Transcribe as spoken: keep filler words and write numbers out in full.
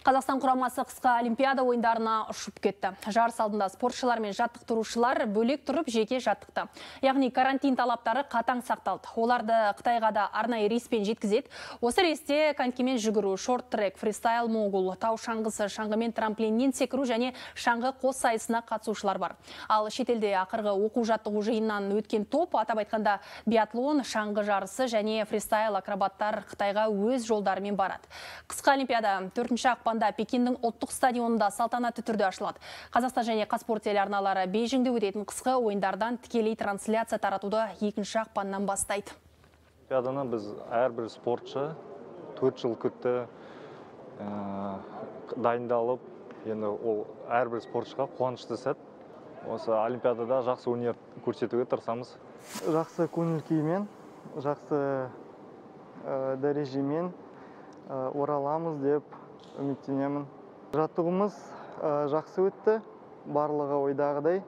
Қазақстан құрамасы қысқы олимпиада ойындарына ұшып кетті. Жарыс алдында спортшылар мен жаттықтырушылар бөлек тұрып жеке жаттықты. Яғни карантин талаптары қатаң сақталды. Оларды Қытайға да арнайы рейспен жеткізеді. Осы рейсте конькимен жүгіру, шорт-трек, фристайл могул, тау шаңғысы, шаңғымен трамплиннен секіру және шаңғы қос сайысына қатысушылар бар. Ал шетелде ақырғы оқу-жаттығу жиыннан өткен топ, атап айтқанда биатлон, шаңғы жарысы және фристайл акробаттар Қытайға өз жолдарымен барады. Қысқы олимпиада төртінші ақпанда Пекиннің ұлттық стадионында салтанатты түрде ашылады. Қазақстан және Қазспорт телеарналары Бейжіңде өтетін қысқы ойындардан тікелей трансляция таратуды екінші ақпаннан бастайды. Олимпиаданы біз әрбір спортшы төрт жыл күтті, дайындалып, енді ол әрбір спортшыға қуанышты сәт. Осы олимпиадада жақсы өнер көрсетуге тырысамыз. Жақсы көңіл-күймен, жақсы дәрежемен ораламыз деп үміттенемін. Жаттығуымыз жақсы өтті, барлығы ойдағыдай.